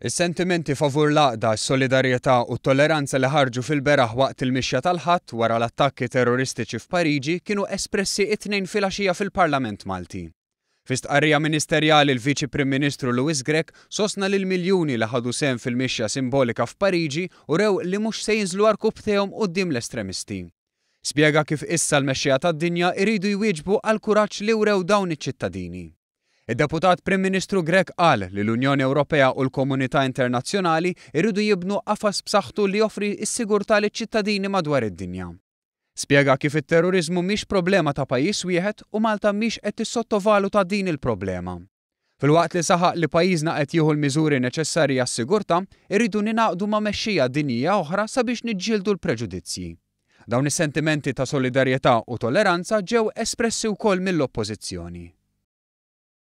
Is-sentimenti favur l-għaqda, is-solidarjetà u t-tolleranza li ħarġu fil-beraħ waqt il-mixja tal-Ħadd wara l-attakki terroristiċi f'Pariġi kienu espressi it-Tnejn filgħaxija fil-Parlament Malti. Fi stqarrija ministerjali l-Viċi Prim Ministru Louis Grech sostna li l-miljuni li ħadu sehem fil-mixja simbolika f'Pariġi urew li mhux se jinżlu għarkupptejhom quddiem l-estremisti. Spjega kif issa l-mexxejja tad-dinja jridu jwieġbu għall-kuraġġ li wrew dawn iċ-ċittadini. Id-Deputat Prim Ministru Grech qal li l-Unjoni Ewropea u l-komunità internazzjonali jridu jibnu qafas b'saħħtu li joffri s-sigurtà liċ-ċittadini madwar id-dinja. Spjega kif it-terroriżmu mhix problema ta' pajjiż wieħed u Malta mhix qed tissottovaluta din il-problema. Filwaqt li saħaq li pajjiżna qed jieħu l-miżuri neċessarji għas-sigurtà, irridu ningħaqdu ma' mexxejja dinjija oħra sabiex niġġieldu l-preġudizzji. Dawn is-sentimenti ta' solidarjetà u tolleranza ġew espressi wkoll mill-Oppożizzjoni.